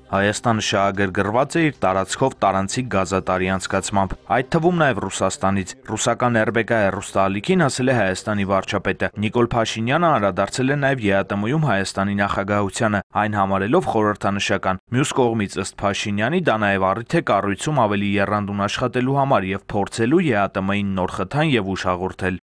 Հայաստանը շահագրգռված է իր տարածքով տարանցիկ գազատարի անցկացմամբ, այդ թվում նաև Ռուսաստանից։ Ռուսական RBK հեռուստաալիքին ասել է Հայաստանի վարչապետը։ Նիկոլ Փաշինյանը անդրադարձել է նաև ԵԱՏՄ-ում Հայաստանի նախագահությանը, այն համարելով խորհրդանշական։ Մյուս կողմից, ըստ Փաշինյանի, դա նաև առիթ է կառույցում ավելի եռանդուն աշխատելու համար եւ փորձելու ԵԱՏՄ-ին նոր խթան եւ ուժ հաղորդել։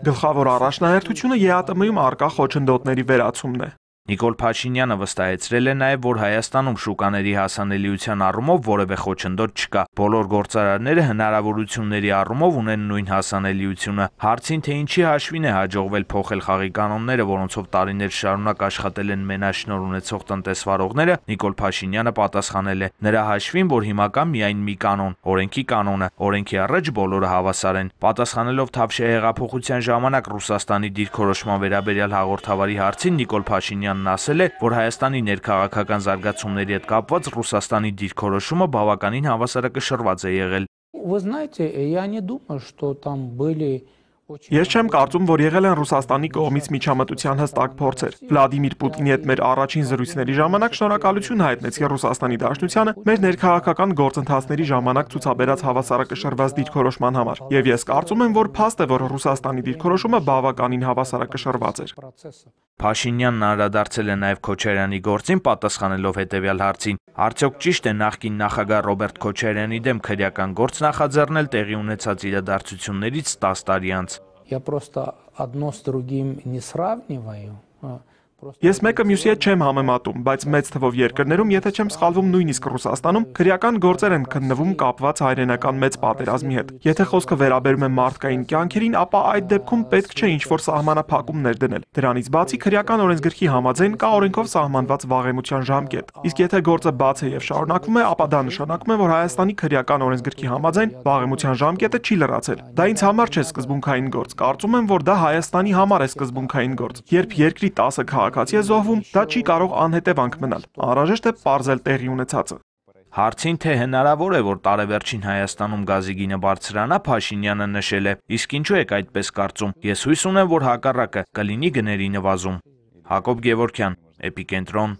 Գլխավոր առաջնահերթությունը ԵԱՏՄ-ում առկա խոչընդոտների վերացումն է։ Նիկոլ Փաշինյանը վստահեցրել է նաև, որ Հայաստանում շուկաների հասանելիության առումով որևէ խոչընդոտ չկա։ Բոլոր գործարարները հնարավորությունների առումով ունեն նույն հասանելիությունը։ Հարցին, թե ինչի հաշվին է հաջողվել փոխել խաղի կանոնները, որոնցով տարիներ շարունակ աշխատել են մենաշնորհ ունեցող տնտեսվարողները, Նիկոլ Փաշինյանը պատասխանել է. նրա հաշվին, որ հիմա կա միայն մի կանոն, օրենքի կանոնը, օրենքի առաջ բոլորը հավասար են։ Պատասխանելով Թավշյա հեղափոխության ժամանակ Ռուսաստանի դիրքորոշման վերաբերյալ հաղորդավարի հարցին, Նիկոլ Փաշինյանն ասել է, որ Հայաստանի ներքաղաքական զարգացումների հետ կապված Ռուսաստանի դիրքորոշումը բավականին հավասարակշռված է եղել։ Ես չեմ կարծում, որ եղել են Ռուսաստանի կողմից միջամտության հստակ փորձեր։ Վլադիմիր Պուտինի հետ մեր առաջին զրույցների ժամանակ շնորհակալություն հայտնեցի Ռուսաստանի Դաշնությանը մեր ներքաղաքական գործընթացների ժամանակ ցուցաբերած հավասարակշռված դիրքորոշման համար։ Եվ ես կարծում եմ, որ փաստ է, որ Ռուսաստանի դիրքորոշումը բավականին հավասարակշռված էր։ Փաշինյանն անդրադարձել է նաև Քոչարյանի գործին, պատասխանելով հետևյալ հարցին. արդյոք ճիշտ է նախկին նախագահ Ռոբերտ Քոչարյանի դեմ քրեական գործ նախաձեռնել տեղի ունեցած իրադարձություններից 10 տարի անց։ Ես մեկը մյուսի հետ չեմ համեմատում, բայց մեծ թվով երկրներում, եթե չեմ սխալվում, նույնիսկ Ռուսաստանում, քրեական գործեր են քննվում կապված հայրենական մեծ պատերազմի հետ։ Եթե խոսքը վերաբերում է մարդկային կյանքերին, ապա այդ դեպքում պետք չէ ինչ-որ սահմանափակումներ դնել։ Դրանից բացի քրեական օրենսգրքի համաձայն կա օրենքով սահմանված վաղեմության ժամկետ։ Իսկ եթե գործը բաց է եւ շարունակվում է, ապա դա նշանակում է, որ Հայաստանի քրեական օրենսգրքի համաձայն վաղեմության ժամկետը չի լրացել։ Դա ինձ համար չէ սկզբունքային գործ։ Կարծում եմ, որ դա Հայաստանի համար է սկզբունքային գործ։ Երբ երկրի 10 քաղաքացի է զոհվում, դա չի կարող անհետևանք մնալ։ Անհրաժեշտ է պարզել տեղի ունեցածը։ Հարցին, թե հնարավոր է, որ տարեվերջին Հայաստանում գազի գինը բարձրանա, Փաշինյանը նշել է. իսկ ինչու եք այդպես կարծում։ Ես հույս ունեմ, որ հակառակը կլինի գների նվազում։ Հակոբ Գևորգյան, Էպիկենտրոն։